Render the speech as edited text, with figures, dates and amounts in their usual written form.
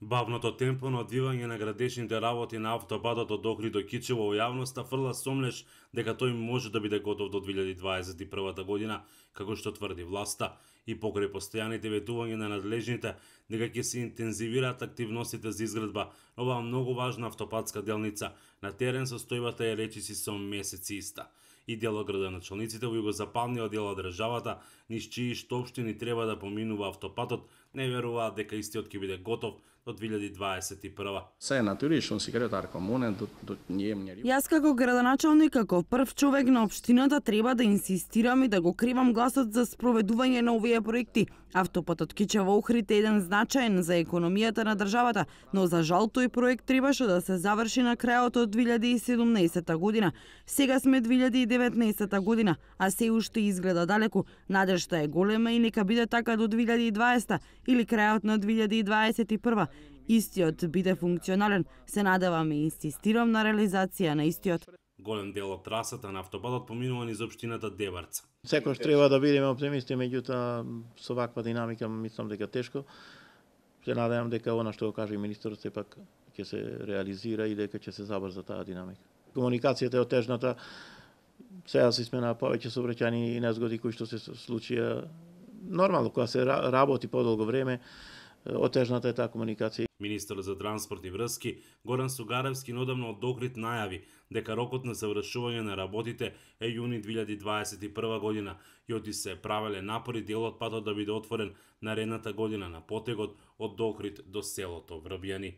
Бавното темпо на одвивање на градешните работи на автопатот од Охрид до Кичево во јавноста фрла сомнеш дека тој може да биде готов до 2021 година, како што тврди власта, и покрај постојаните ветувања на надлежните дека ќе се интензивираат активностите за изградба на оваа многу важна автопатска делница, на терен состојбата е речиси со месеци иста. И дел од градоначалниците во југозападниот дел од државата, низ чии што општини треба да поминува автопатот, не веруваат дека истиот ќе биде готов до 2021. Се натуриш, он секретар комунен до Јас како градоначалник, како прв човек на општината треба да инсистирам и да го кривам гласот за спроведување на овие проекти. Автопатот Кичево-Охрид е еден значаен за економијата на државата, но за жал тој проект требаше да се заврши на крајот од 2017 година. Сега сме 2019 година, а се уште изгледа далеку. Надежта е голема и нека биде така до 2020 или крајот на 2021. Истиот биде функционален, се надевам и инсистирам на реализација на истиот. Голем дел од трасата на автопатот поминува низ општината Дебарца. Секојаш треба да бидеме оптимисти, меѓутоа со ваква динамика мислам дека тешко. Се надевам дека она што го каже и министерот сепак ќе се реализира и дека ќе се забрза таа динамика. Комуникацијата е отежната. Сега се смена повеќе сообраќајни незгоди кои што се случија. Нормално, кога се работи подолго време, отежната е таа комуникација. Министерот за транспорт и врски Горан Сугаревски одамна од Охрид најави дека рокот на завршување на работите е јуни 2021 година и оти се правеле напори делот патот да биде отворен наредната година на потегот од Охрид до селото Врбјани.